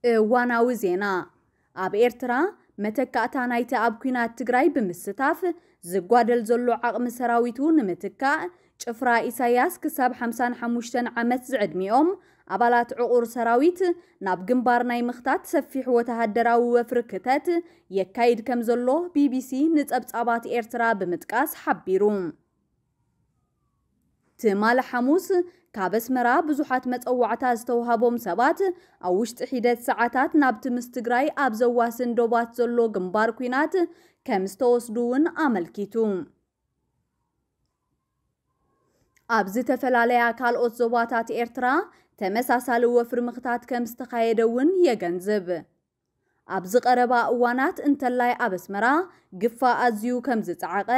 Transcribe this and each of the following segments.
እዋናዊ ዜና። ኣብ ኤርትራ፣ መተካእታ ናይቲ ኣብ ኲናት ትግራይ ብምስታፍ ዝጓደል ዘሎ ዓቕሚ ሰራዊቱ ንምትካእ፣ ጭፍራ ኢሳያስ ክሳብ ሓምሳን ሓሙሽተን ዓመት ዝዕድሚኦም ኣባላት ዕቑር ሰራዊት ናብ ግንባር ናይ ምኽታት ሰፊሕ ወተሃደራዊ ወፍሪ ክተት የካይድ ከም ዘሎ ቢቢሲ ንጸብጻባት ኤርትራ ብምጥቃስ ሓቢሩ። ትማሊ ሓሙስ፣ ካብ ኣስመራ ብዙሓት መጸዋዕታ ዝተውሃቦም ሰባት፣ ኣብ ውሽጢ ሒደት ሰዓታት ናብቲ ምስ ትግራይ ኣብ ዘዋስን ዶባት ዘሎ ግንባር ኲናት ከም ዝተወስዱ እውን ኣመልኪቱ። ኣብ ዝተፈላለያ ካልኦት ዞባታት ኤርትራ ተመሳሳሊ ወፍሪ ምኽታት ከም ዝተኻየደ እውን የገንዝብ። ኣብዚ ቀረባ እዋናት እንተላይ ኣብ ኣስመራ ግፋ ኣዝዩ ከም ዝጸዓቐ፣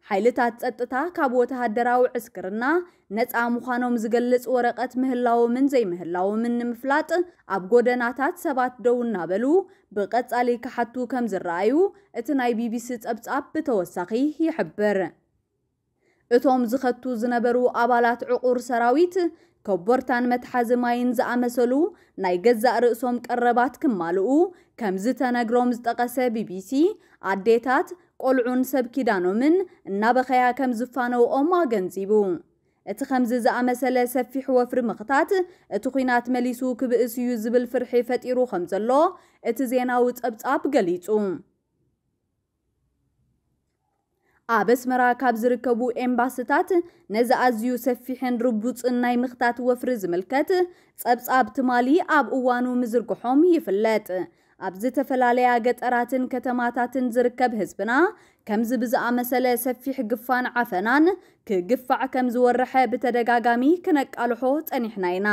ሓይልታት ጸጥታ ካብ ወተሃደራዊ ዕስክርና ነጻ ምዃኖም ዝገልጽ ወረቐት ምህላዎምን ዘይምህላዎምን ንምፍላጥ ኣብ ጎደናታት ሰባት ደው እናበሉ ብቐጻሊ ክሓቱ ከም ዝረኣዩ እቲ ናይ ቢቢሲ ጸብጻብ ብተወሳኺ ይሕብር። እቶም ዝኸቱ ዝነበሩ ኣባላት ዕቑር ሰራዊት፣ ኮቦርታን መትሓዚ ማይን ዝኣመሰሉ ናይ ገዛእ ርእሶም ቀረባት ክማልኡ ከም ዝተነግሮም ዝጠቐሰ ቢቢሲ፣ ኣዴታት፣ ቆልዑን ሰብ ኪዳኖምን እናበኸያ ከም ዝፋነውኦም ኣገንዚቡ። እቲ ከምዚ ዝኣመሰለ ሰፊሕ ወፍሪ ምኽታት፣ እቲ ኲናት መሊሱ ክብእስ እዩ ዝብል ፍርሒ ፈጢሩ ከም ዘሎ እቲ ዜናዊ ጸብጻብ ገሊጹ። ኣብ ኣስመራ ካብ ዝርከቡ ኤምባስታት ነዚ ኣዝዩ ሰፊሕን ርቡጽን ናይ ምኽታት ወፍሪ ዝምልከት ጸብጻብ ትማሊ ኣብ እዋኑ ምዝርግሖም ይፍለጥ። ኣብ ዝተፈላለያ ገጠራትን ከተማታትን ዝርከብ ህዝብና፣ ከምዚ ብዝኣመሰለ ሰፊሕ ግፋን ዓፈናን ክግፋዕ ከም ዝወረሐ ብተደጋጋሚ ክነቃልሖ ጸኒሕና ኢና።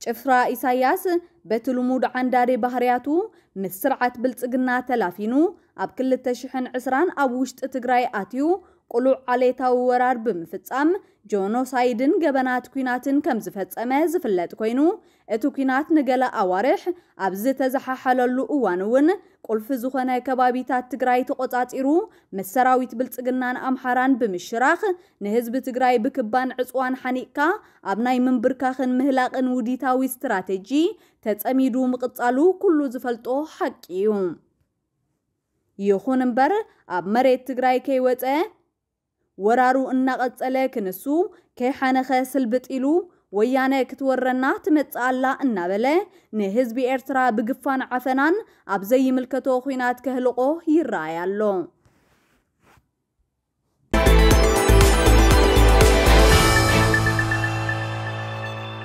ጭፍራ ኢሳያስ በቲ ልሙድ ዓንዳሪ ባህርያቱ ምስ ስርዓት ብልጽግና ተላፊኑ፣ ኣብ ክልተ ሽሕን ዕስራን ኣብ ውሽጢ ትግራይ ኣትዩ፣ ቅሉዕ ዓሌታዊ ወራር ብምፍጻም፣ ጆኖሳይድን ገበናት ኲናትን ከም ዝፈጸመ ዝፍለጥ ኮይኑ፣ እቲ ኲናት ንገለ ኣዋርሕ ኣብ ዝተዘሓሓለሉ እዋን እውን፣ ቁልፊ ዝኾነ ከባቢታት ትግራይ ተቖጻጺሩ፣ ምስ ሰራዊት ብልጽግናን ኣምሓራን ብምሽራኽ፣ ንህዝቢ ትግራይ ብክባን ዕጽዋን ሓኒቕካ ኣብ ናይ ምንብርካኽን ምህላቕን ውዲታዊ ስትራቴጂ ተጸሚዱ ምቕጻሉ ኩሉ ዝፈልጦ ሓቂ እዩ። ይኹን እምበር፣ ኣብ መሬት ትግራይ ከይወጸ፣ ወራሩ እናቐጸለ ክንሱ፣ ከይሓነኸ ስልብጥ ኢሉ፣ ወያነ ክትወረና ትመጽእ ኣላ እናበለ፣ ንህዝቢ ኤርትራ ብግፋን ዓፈናን ኣብ ዘይምልከቶ ኲናት ከህልቆ ይረኣይ ኣሎ።